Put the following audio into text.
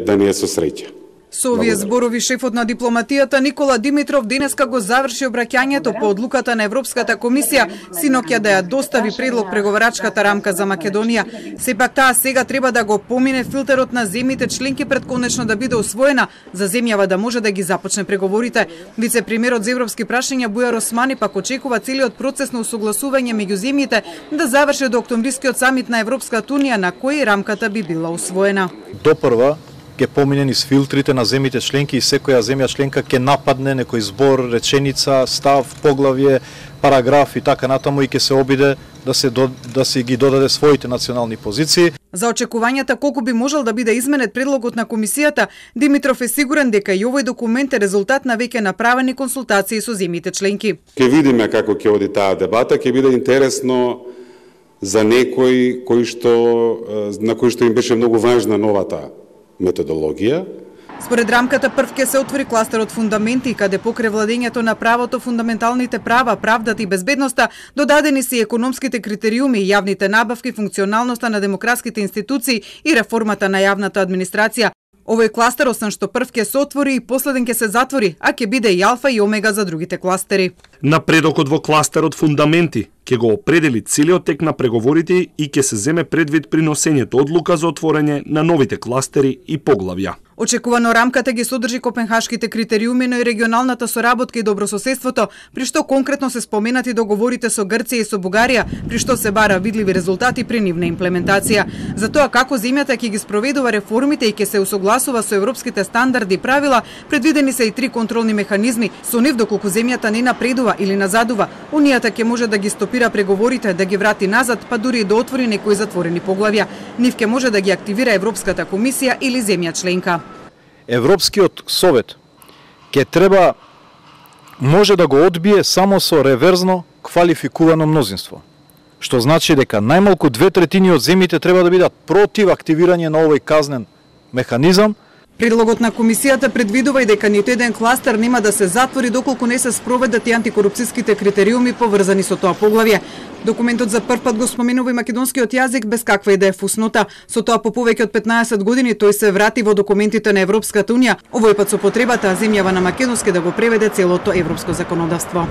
Да не е со среќа. Со овие зборови шефот на дипломатијата Никола Димитров денеска го заврши обраќањето по одлуката на Европската комисија синоќа да ја достави предлог преговарачката рамка за Македонија. Сепак таа сега треба да го помине филтерот на земјите членки пред конечно да биде усвоена за земјава да може да ги започне преговорите. Вице-премиерот за европски прашања Бујар Османи пак очекува целиот процес на усогласување меѓу земјите да заврши до октомврискиот самит на Европската унија на кој рамката би била усвоена. Допрва ќе помине низ филтрите на земјите членки и секоја земја членка ќе нападне некој збор, реченица, став, поглавје, параграф и така натаму и ќе се обиде да се ги додаде своите национални позиции. За очекувањата колку би можел да биде изменет предлогот на комисијата, Димитров е сигурен дека и овој документ е резултат на веќе направени консултации со земјите членки. Ќе видиме како ќе оди таа дебата, ќе биде интересно за некој на кој што им беше многу важна новата методологија. Според рамката прв ќе се отвори кластерот фундаменти, каде покрај владењето на правото, фундаменталните права, правдата и безбедноста, додадени се и економските критериуми, јавните набавки, функционалноста на демократските институции и реформата на јавната администрација. Овој кластер, освен што прв ќе се отвори и последен ќе се затвори, а ќе биде и алфа и омега за другите кластери. Напредокот во кластерот фундаменти ќе го определи целиот тек на преговорите и ќе се земе предвид при носењето одлука за отворање на новите кластери и поглавја. Очекувано рамката ги содржи копенхашките критериуми, но и регионалната соработка и добрососедството, при што конкретно се споменати договорите со Грција и со Бугарија, при што се бара видливи резултати при нивна имплементација. За тоа како земјата ќе ги спроведува реформите и ќе се усогласува со европските стандарди и правила, предвидени се и 3 контролни механизми. Со нив доколку земјата не напредува или назадува, унијата ќе може да ги стопира преговорите, да ги врати назад, па дури и да отвори некои затворени поглавја. Нив ќе може да ги активира Европската комисија или земја членка. Европскиот совет ќе може да го одбие само со реверзно квалификувано мнозинство, што значи дека најмалку 2/3 од земјите треба да бидат против активирање на овој казнен механизам. Предлогот на комисијата предвидува и дека ниту еден кластер нема да се затвори доколку не се спроведат и антикорупцијските критериуми поврзани со тоа поглавје. Документот за прв пат го споменува и македонскиот јазик без каква и да е фуснота. Со тоа по повеќе од 15 години тој се врати во документите на Европската унија, овој пат со потребата земјава на македонски да го преведе целото европско законодавство.